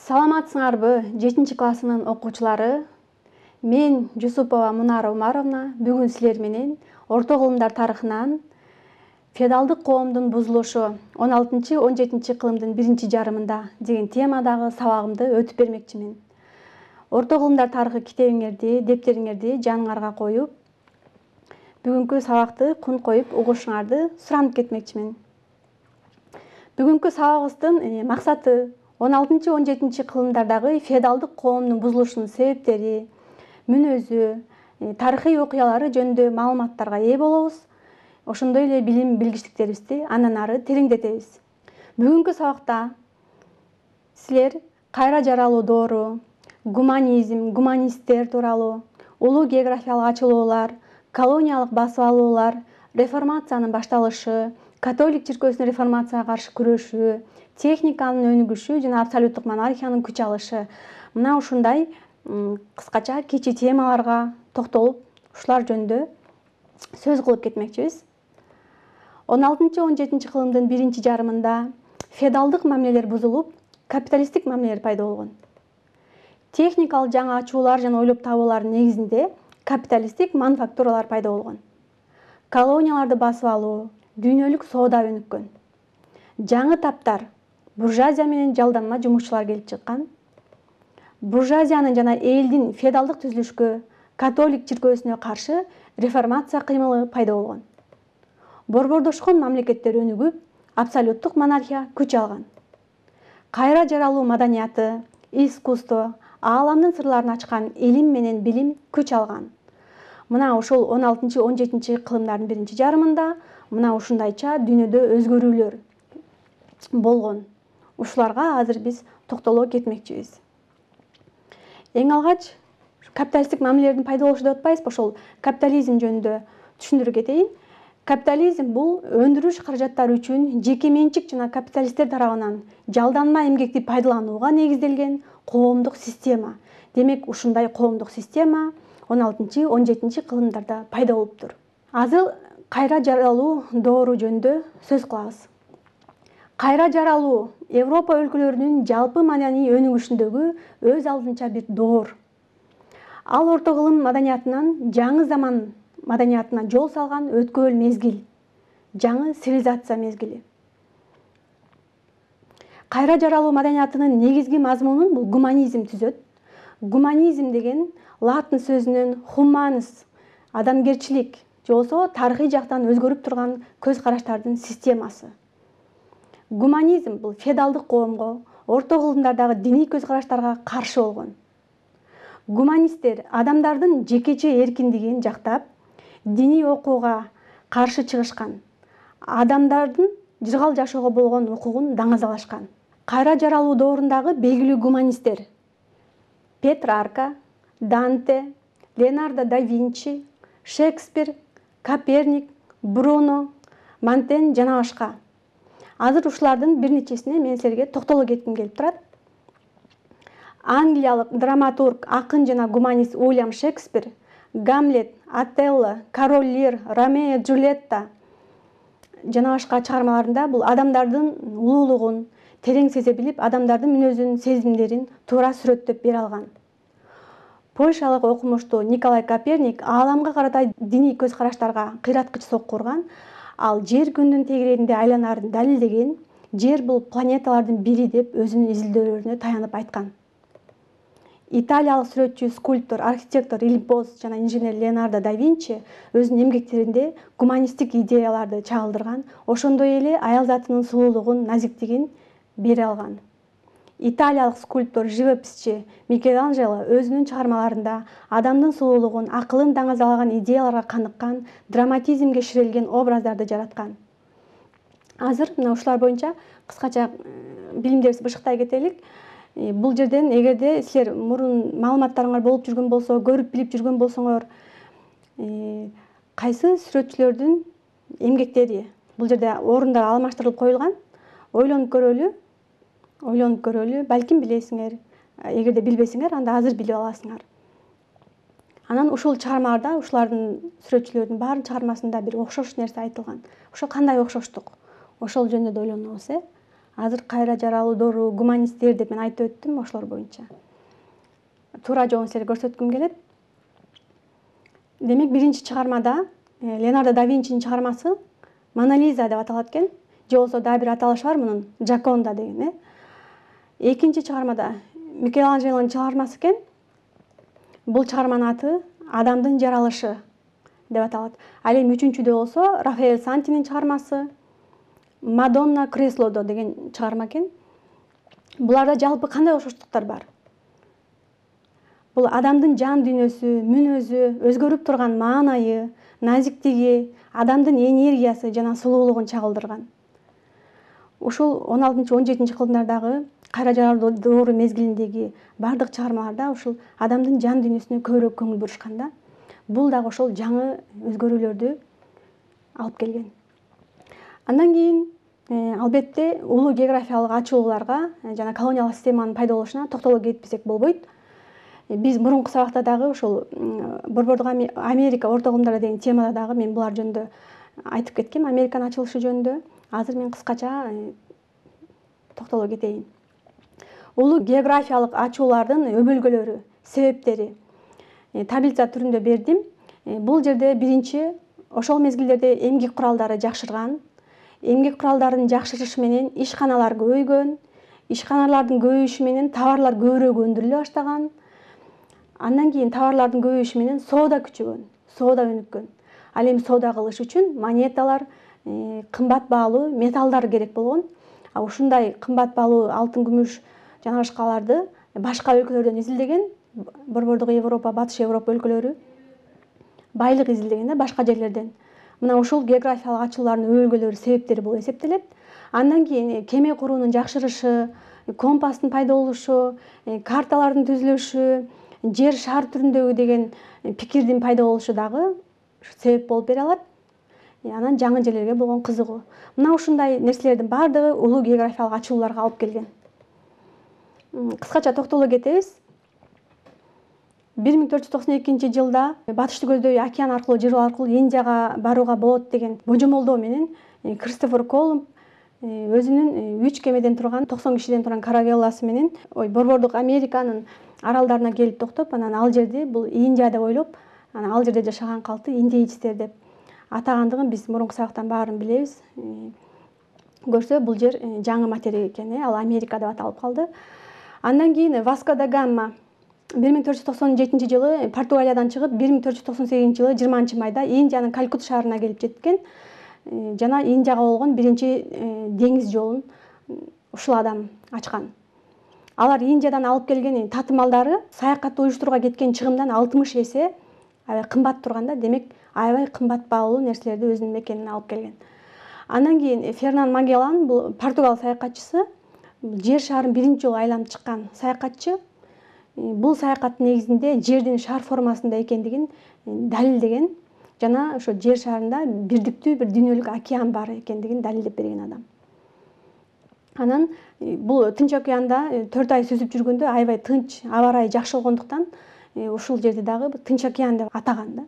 Саламатсыңарбы 7 классынын окуучулары? Мен Жусупова Мунара Умаровна бүгүн силер менен орто кылымдар тарыхынан феодалдык коомдун бузулушу 16-17 кылымдын биринчи жарымында деген темадагы сабагымды өтүп бермекчимин. Орто кылымдар тарыхы китебиңерди, дептериңерди жаныңарга коюп, бүгүнкү сабакты кун коюп угушуңарды суранып кетмекчимин. Бүгүнкү сабагыбыздын максаты 16-17 кылымдардагы феодалдык коомдун бузулушунун себептери, мүнөзү, тарыхый окуялары жөнүндө маалыматтарга ээ болобуз. Ошондой эле билим билгичтиктерибизди андан ары тереңдетебиз. Бүгүнкү сабакта силер кайра жаралуу доору, гуманизм, гуманисттер тууралуу, улуу географиялык ачылуулар, колониялык басып алуулар, реформациянын башталышы, католик чиркөөсүнүн реформацияга каршы күрөшү, техниканын өнүгүшү жана абсолюттук монархиянын күч алышы. Мына ушундай кыскача кичи темаларга токтолуп, ушулар жөнүндө сөз кылып кетмекчибиз. 16-17 кылымдын биринчи жарымында феодалдык мамилелер бузулуп, капиталисттик мамилелер пайда болгон. Техникалык жаңы ачуулар жана ойлоп табуулардын негизинде капиталисттик мануфактуралар пайда болгон. Колонияларды басып алуу, дүйнөлүк соода өнүккөн. Жаңы таптар буржуазия менен жалданма жумушчулар келип чыккан. Буржуазиянын жана элдин феодалдык түзүлүшкө, католик чиркөөсүнө каршы реформация кыймылы пайда болгон. Борбордошкон мамлекеттер өнүгүп, абсолюттук монархия күч алган. Кайра жаралуу маданияты, искусство, ааламдын сырларын ачкан илим менен билим күч алган. Мына ушул 16-17 кылымдардын биринчи жарымында мына ушундайча дүйнөдө өзгөрүүлөр болгон. Ушуларга азыр биз токтоло кетмекчибиз. Эң алгач капиталисттик мамилелердин пайда болушу деп атпайбызбы? Ошол капитализм жөнүндө түшүндүрүп кетейин. Капитализм бул өндүрүш каражаттары үчүн жеке менчик жана капиталисттер тарабынан жалданма эмгекти пайдаланууга негизделген коомдук система. Демек, ушундай коомдук система 16-17 кылымдарда пайда болуптур. Азыр кайра жаралуу доору жөнүндө сөз кылабыз. Кайра жаралуу Европа өлкөлөрүнүн жалпы маданий өнүгүшүндөгү өз алдынча бир доор. Ал орто кылым маданиятынан жаңы заман маданиятына жол салган өткөөл мезгил, жаңы цивилизация мезгили. Кайра жаралуу маданиятынын негизги мазмунун бул гуманизм түзөт. Гуманизм деген латын сөзүнөн humanus, адамгерчилик, же болбосо тарыхый жактан өзгөрүп турган көз караштардын системасы. Гуманизм бул феодалдык коомго, орто кылымдардагы диний көз караштарга каршы болгон. Гуманисттер адамдардын жекече эркиндигин жактап, диний окууга каршы чыгышкан. Адамдардын жыргал жашоого болгон укугун даңазалашкан. Кайра жаралуу доорундагы белгилүү гуманисттер: Петрарка, Данте, Леонардо да Винчи, Шекспир, Коперник, Бруно, Монтень жана башка. Азыр ушулардын бир нечесине мен силерге токтоло кетким келип турат. Англиялык драматург, акын жана гуманист Уильям Шекспир Гамлет, Отелло, Король Лир, Ромео Джульетта жана башка чыгармаларында бул адамдардын улуулугун терең сезе билип, адамдардын мүнөзүн, сезимдерин туура сүрөттөп бере алган. Польшалык окумуштуу Николай Коперник ааламга карата диний көз караштарга кыйраткыч сокку урган. Ал жер күндүн тегерегинде айланарын далилдеген, жер бул планеталардын бири деп өзүнүн изилдөөлөрүнө таянып айткан. Италиялык сүрөтчү, скульптор, архитектор Ильбос жана инженер Леонардо да Винчи өзүнүн эмгектеринде гуманисттик идеяларды чагылдырган, ошондой эле аял затынын сулуулугун, назиктигин бере алган. Италиялык скульптор, живописчи Микеланджело өзүнүн чыгармаларында адамдын сулуулугун, акылын даңазалаган идеяларга каныккан, драматизмге ширелген образдарды жараткан. Азыр мына ушулар боюнча кыскача билимдерибизди бышыктай кетелик. Бул жерден эгерде силер мурун маалыматтарыңар болуп жүргөн болсо, көрүп билип жүргөн болсоңор, кайсы сүрөтчүлөрдүн эмгектери бул жерде орундар алмаштырылып коюлган? Ойлонуп көрөлү, балким билесиңер. Эгерде билбесеңер, анда азыр билип аласыңар. Анан ушул чыгармаларда ушулардын сүрөтчүлөрдүн баарын чыгармасында бир окшош нерсе айтылган. Ошо кандай окшоштук? Ошол жөнүндө ойлонобуз, азыр кайра жаралуудору, гуманисттер деп мен айтып өттүм ошолор боюнча. Туура жолун силерге көрсөткүм келет. Демек, биринчи чыгармада Леонардо да Винчинин чыгармасы Мона Лиза деп аталат экен. Же болбосо дагы бир аталышы бар мунун, Джаконда деген. Экинчи чыгармада Микеланджелонун чыгармасы экен. Бул чыгарманын аты Адамдын жаралышы деп аталат. Ал эми үчүнчүдө болсо Рафаэль Сантинин чыгармасы Мадонна Креслодо деген чыгарма экен. Буларда жалпы кандай окшоштуктар бар? Бул адамдын жан дүйнөсү, мүнөзү, өзгөрүп турган маанайы, назиктиги, адамдын энергиясы жана сулуулугун чагылдырган. Ушул 16-17 кылымдардагы кайра жаралуу мезгилиндеги бардык чыгармаларда ушул адамдын жан дүйнөсүнө көбүрөөк көңүл бурушкан да. Бул дагы ошол жаңы өзгөрүүлөрдү алып келген. Андан кийин албетте улуу географиялык ачууларга жана колониялык системанын пайда болушуна токтоло кетпесек болбойт. Биз мурунку сабакта дагы ошол Борбордук Америка орто кылымдарда деген темада дагы мен булар жөнүндө айтып кеткем, Американын ачылышы жөнүндө. Азыр мен кыскача токтоло кетейин. Улуу географиялык ачуулардын өбөлгөлөрү, себептери таблица түрүндө бердим. Бул жерде биринчи ошол мезгилдерде эмгек куралдары жакшырган. Эмгек куралдарынын жакшырышы менен ишканалар көбөйгөн. Ишканалардын көбөйүшү менен товарлар көбүрөөк өндүрүлө баштаган. Андан кийин товарлардын көбөйүшү менен соода күчөгөн, соода өнүккөн. Ал эми соода кылыш үчүн монеталар, кымбат баалуу металлдар керек болгон. Ушундай кымбат баалуу алтын, күмүш жана башкаларды башка өлкөлөрдөн изилдеген, Борбордук Европа, Батыш Европа өлкөлөрү байлык изилдеген да башка жерлерден. Мына ушул географиялык ачуулардын өбөлгөлөрү, себептери болуп эсептелет. Андан кийин кеме куруунун жакшырышы, компастын пайда болушу, карталардын түзүлүшү, жер шар түрүндөгү деген пикирдин пайда болушу дагы себеп болуп бере алат. Анан жаңы жерлерге болгон кызыгуу. Мына ушундай нерселердин бардыгы улуу географиялык ачууларга алып келген. Кыскача токтоло кетебиз. 1492-жылда батышты көздөй океан аркылуу, жер аркылуу Индияга барууга болот деген божомолдоо менен Кристофер Колумб өзүнүн 3 кемеден турган, 90 кишиден турган каравелласы менен Борбордук Американын аралдарына келип токтоп, анан ал жерди бул Индия деп ойлоп, анан ал жерде жашаган калкты индейцтер деп атагандыгын биз мурунку сабактан баарын билебиз. Көрсө бул жер жаңы материк экен, ал Америка деп аталып калды. Андан кийин Васко да Гама 1497-жылы Португалиядан чыгып, 1498-жылы 20-майда Индиянын Калькут шаарына келип жеткен жана Индияга болгон биринчи деңиз жолун ушул адам ачкан. Алар Индиядан алып келген татымалдары саякатты уюштурууга кеткен чыгымдан 60 эсе аябай кымбат турганда, демек аябай кымбат баалуу нерселерди өзүнүн мекенине алып келген. Андан кийин Фернан Магеллан, бул Португал саякатчысы, жер шаарын биринчи жолу айланып чыккан саякатчы. Бул саякаттын негизинде жердин шар формасында экендигин далилдеген жана ошо жер шарында бирдиктүү бир дүйнөлүк океан бар экендигин далилдеп берген адам. Анан бул Тынч океанда 4 ай сүзүп жүргөндө аябай тынч, аба ырайы жакшы болгондуктан ушул жерди дагы Тынч океан деп атаган да.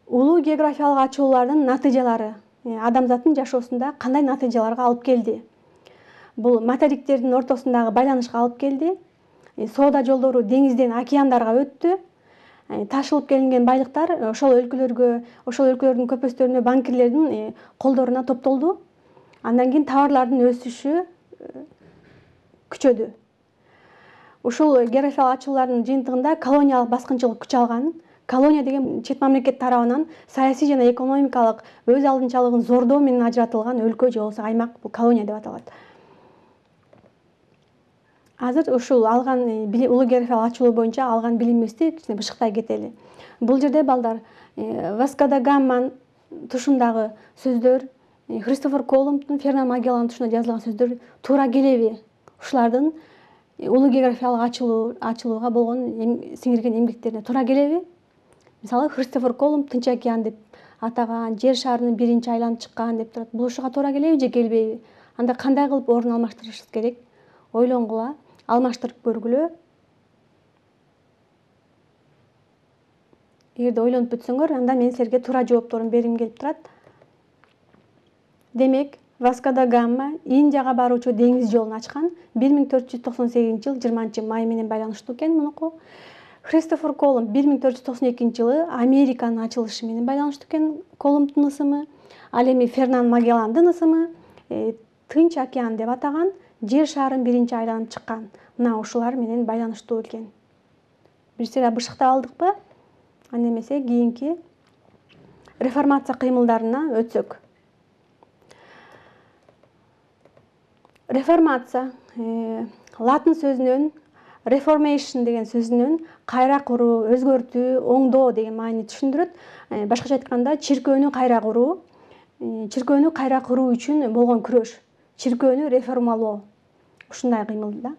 Улуу географиялык ачуулардын натыйжалары адамзаттын жашоосунда кандай натыйжаларга алып келди? Бул материктердин ортосундагы байланышка алып келди. Соода жолдору деңизден океандарга өттү. Ташылып келинген байлыктар ошол өлкөлөргө, ошол өлкөлөрдүн көпөстөрүнө, банкирлердин колдоруна топтолду. Андан кийин товарлардын өсүшү күчөдү. Ушул географиялык ачуулардын жыйынтыгында колониялык баскынчылык күч алган. Колония деген чет мамлекет тарабынан саясий жана экономикалык өз алдынчалыгын зордоо менен ажыратылган өлкө же болбосо аймак, бул колония деп аталат. Азыр ушул алган улуу географиялык ачуулуу боюнча алган билимибизди кичине бышыктай кетели. Бул жерде балдар Васко да Гаманын тушундагы сөздөр, Кристофер Колумбдун, Фернан Магелландын тушунда жазылган сөздөр туура келеби? Ушулардын улуу географиялык ачылууга болгон сиңирген эмгектерине туура келеби? Мисалы, Кристофер Колумб Тынч океан деп атаган, жер шарынын биринчи айланып чыккан деп турат. Бул ушуга туура келеби же келбейби? Анда кандай кылып орун алмаштырышыбыз керек? Ойлонгула, алмаштырып көргүлө. Эгерде ойлонуп бүтсөңөр, анда мен силерге туура жоопторун бергим келип турат. Демек, Васко да Гама Индияга баруучу деңиз жолун ачкан. 1498-жыл 20-май менен байланыштуу экен мунуку. Христофор Колумб 1492-жылы Американын ачылышы менен байланыштуу экен Колумбдун ысымы. Ал эми Фернан Магелландын ысымы Тынч океан деп атаган, жер шарын биринчи айланып чыккан. Мына ушулар менен байланыштуу экен. Бир сыйра бышыктап алдыкпы? Анда эмесе кийинки реформация кыймылдарына өтсөк. Реформация латын сөзүнөн reformation деген сөзүнөн кайра куруу, өзгөртүү, оңдоо деген маани түшүндүрөт. Башкача айтканда чиркөөнү кайра куруу, чиркөөнү кайра куруу үчүн болгон күрөш, чиркөөнү реформалоо. Ушундай кыймыл да.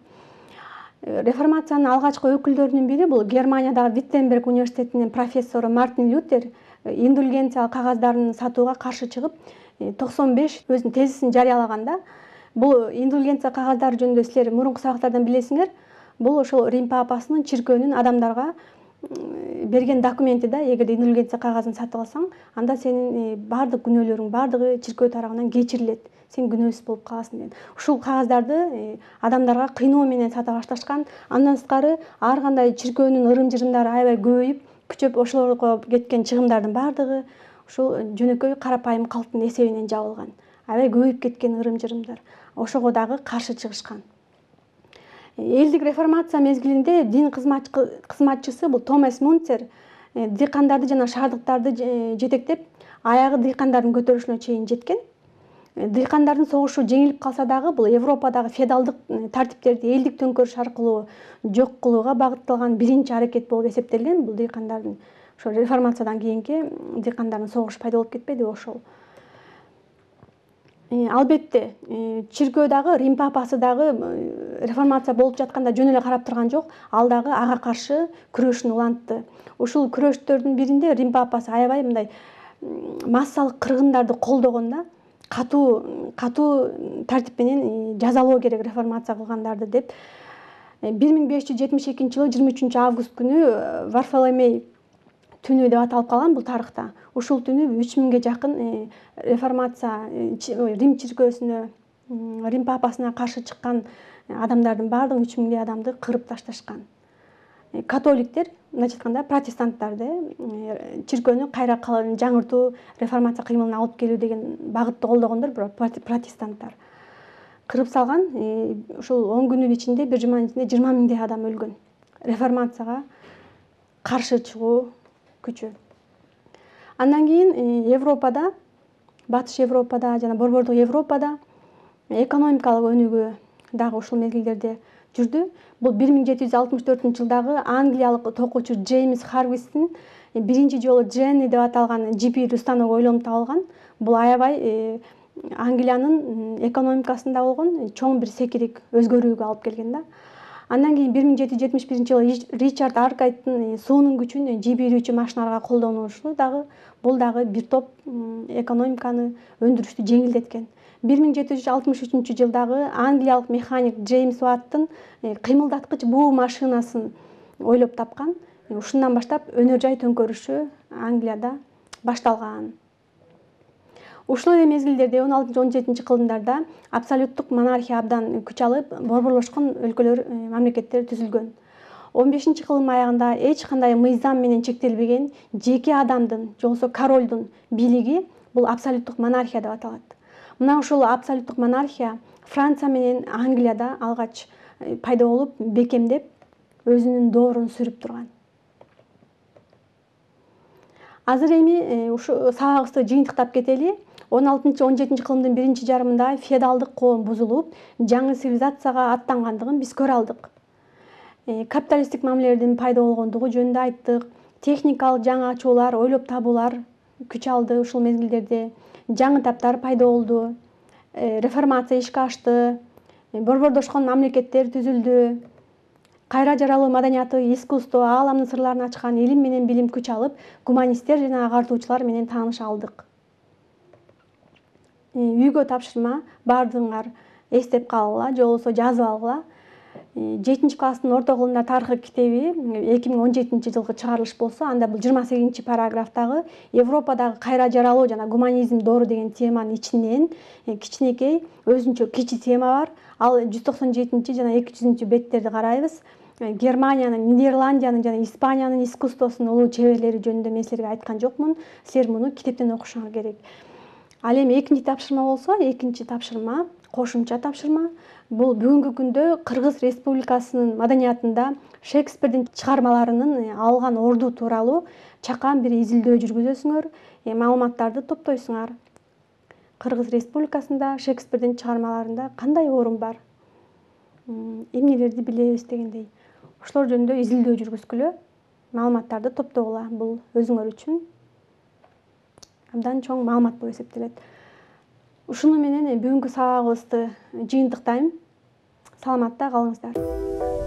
Реформациянын алгачкы өкүлдөрүнүн бири бул Германиядагы Виттенберг университетинин профессору Мартин Лютер индульгенциялык кагаздарын сатууга каршы чыгып, 95 өзүнүн тезисин жарыялаганда, бул индульгенция кагаздары жөнүндө силер мурунку сабактардан билесиңер. Бул ошол Рим папасынын чиркөөнүн адамдарга берген документи да. Эгерде индульгенция кагазын сатып алсаң, анда сенин баардык күнөөлөрүң баардыгы чиркөө тарабынан кечирилет. Сен күнөөсүз болуп каласың деген. Ушул кагаздарды адамдарга кыйноо менен сата башташкан. Андан сырткары ар кандай чиркөөнүн ырым-жырымдары аябай көбөйүп, күчөп ошолорго кеткен чыгымдардын баардыгы ушул жөнөкөй карапайым калктын эсебинен жабылган. Аябай көбөйүп кеткен ырым-жырымдар. Ошого дагы каршы чыгышкан. Элдик реформация мезгилинде дин кызматчысы бул Томас Мунцер дыйкандарды жана шаардыктарды жетектеп, аягы дыйкандардын көтөрүлүшүнө чейин жеткен. Дыйкандардын согушу жеңилип калса дагы, бул Европадагы феодалдык тартиптерди элдик төңкөрүш аркылуу жок кылууга багытталган биринчи аракет болуп эсептелген. Бул дыйкандардын ошо реформациядан кийинки дыйкандардын согушу пайда болуп кетпедиби ошол. Албетте, чиркөө дагы, Рим папасы дагы реформация болуп жатканда жөн эле карап турган жок. Ал дагы ага каршы күрөшүн улантты. Ушул күрөштөрдүн биринде Рим папасы аябай мындай массалык кыргындарды колдогон да. Катуу тартип менен жазалоо керек реформация кылгандарды деп. 1572-жылы 23 август күнү Варфоломей түнү деп аталып калган бул тарыхта. Ушул түнү 3000ге жакын реформация Рим чиркөөсүнө, Рим папасына каршы чыккан адамдардын баардыгын 3000 адамды кырып ташташкан. Католиктер, мындайча айтканда протестанттарды чиркөөнү кайра жаңыртуу, реформация кыймылына алып келүү деген багытты колдогондор, бирок протестанттар кырып салган. Ушул 10 күнүн ичинде, бир жуманын ичинде 20 000 адам өлгөн. Реформацияга каршы чыгуу күчү. Андан кийин Европада, Батыш Европада жана Борбордук Европада экономикалык өнүгүү дагы ушул мезгилдерде жүрдү. Бул 1764-жылдагы англиялык токуучу Джеймс Харвистин биринчи жолу Дженни деп аталган жипирди станок ойлонуп табылган. Бул аябай Англиянын экономикасында болгон чоң бир секирик өзгөрүүгө алып келген да. Андан кийин 1771-жылы Ричард Аркайттын суунун күчүн жибирүүчү машиналарга колдонушу дагы, бул дагы бир топ экономиканы өндүрүштү жеңилдеткен. 1763-жылдагы англиялык механик Джеймс Уаттын кыймылдаткыч буу машинасын ойлоп тапкан. Ушундан баштап өнөр жай төңкөрүшү Англияда башталган. Ушул эле мезгилдерде 16-17 кылымдарда абсолюттук монархия абдан күч алып, борборлошкон өлкөлөр, мамлекеттер түзүлгөн. 15 кылым аягында эч кандай мыйзам менен чектелбеген жеке адамдын, же болбосо королдун бийлиги бул абсолюттук монархия деп аталат. Мына ушул абсолюттук монархия Франция менен Англияда алгач пайда болуп, бекемдеп, өзүнүн доорун сүрүп турган. Азыр эми ушу сабагыбызды жыйынтыктап кетели. 16-17 кылымдын биринчи жарымында феодалдык коом бузулуп, жаңы цивилизацияга аттангандыгын биз көрө алдык. Капиталисттик мамилелердин пайда болгондугу жөнүндө айттык. Техникалык жаңы ачуулар, ойлоп табуулар күч алды ушул мезгилдерде. Жаңы таптар пайда болду. Реформация ишке ашты. Борбордошкон мамлекеттер түзүлдү. Кайра жаралуу маданияты, искусство, ааламдын сырларын ачкан илим менен билим күч алып, гуманисттер жана агартуучулар менен тааныша алдык. Үйгө тапшырма, баардыгыңар эстеп калгыла, же болбосо жазып алгыла. 7 класстын орто кылымдар тарыхы китеби 2017 жылкы чыгарылыш болсо, анда бул 28 параграфтагы Европадагы кайра жаралуу жана гуманизм доору деген теманын ичинен кичинекей өзүнчө кичи тема бар. Ал 197 жана 200 беттерди карайбыз. Германиянын, Нидерландиянын жана Испаниянын искусствосунун улуу чеберлери жөнүндө мен силерге айткан жокмун. Силер муну китептен окушуңар керек. Ал эми экинчи тапшырма болсо, экинчи тапшырма кошумча тапшырма. Бул бүгүнкү күндө Кыргыз Республикасынын маданиятында Шекспирдин чыгармаларынын алган орду тууралуу чакан бир изилдөө жүргүзөсүңөр, маалыматтарды топтойсуңар. Кыргыз Республикасында Шекспирдин чыгармаларында кандай орун бар, эмнелерди билебиз дегендей. Ошолор жөнүндө изилдөө жүргүзгүлө, маалыматтарды топтогула. Бул өзүңөр үчүн абдан чоң маалымат болуп эсептелет. Ушуну менен бүгүнкү сабагыбызды жыйынтыктайм. Саламатта калыңыздар.